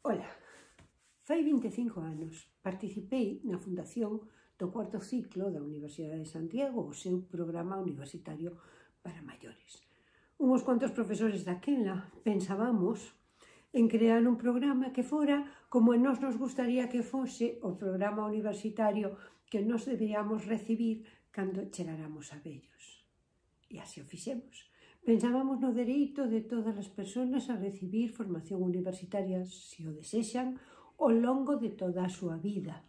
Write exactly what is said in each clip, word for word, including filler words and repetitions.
Ola, fai vinte e cinco anos participei na fundación do cuarto ciclo da Universidade de Santiago, o seu programa universitario para maiores. Uns cuantos profesores daquela pensábamos en crear un programa que fora como a nós nos gustaría que fose o programa universitario que nos deberíamos recibir cando chegáramos a vellos. E así o fixemos. Pensábamos no dereito de todas as persoas a recibir formación universitaria, se o desexan, ao longo de toda a súa vida.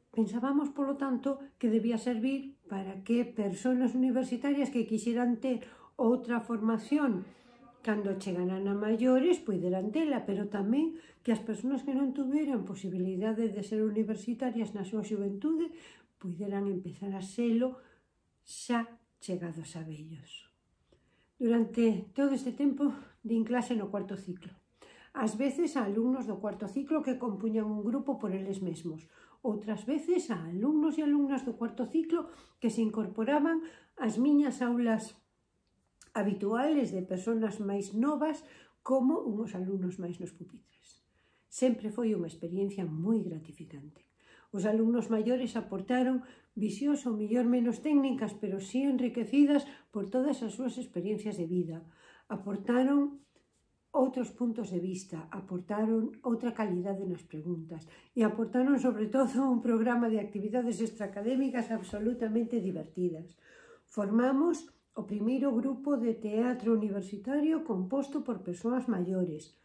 Pensábamos, polo tanto, que debía servir para que persoas universitarias que quixeran ter outra formación cando chegaran a maiores poideran tela, pero tamén que as persoas que non tuveran posibilidade de ser universitarias na súa xuventude poideran empezar a selo xa chegados a vellos. Durante todo este tempo din clase no cuarto ciclo. Ás veces a alumnos do cuarto ciclo que compuñan un grupo por eles mesmos, outras veces a alumnos e alumnas do cuarto ciclo que se incorporaban ás miñas aulas habituales de persoas máis novas como unhos alumnos máis nos pupitres. Sempre foi unha experiencia moi gratificante. Os alumnos maiores aportaron visións ao mellor menos técnicas, pero si enriquecidas por todas as súas experiencias de vida. Aportaron outros puntos de vista, aportaron outra calidade nas preguntas e aportaron, sobre todo, un programa de actividades extraacadémicas absolutamente divertidas. Formamos o primeiro grupo de teatro universitario composto por persoas maiores.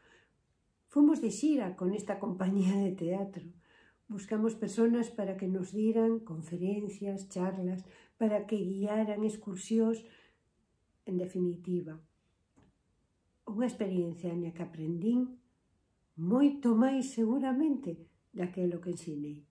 Fomos de xira con esta compañía de teatro. Buscamos persoas para que nos diran conferencias, charlas, para que guiaran excursións, en definitiva. Unha experiencia na que aprendín moito máis seguramente daquelo que ensinei.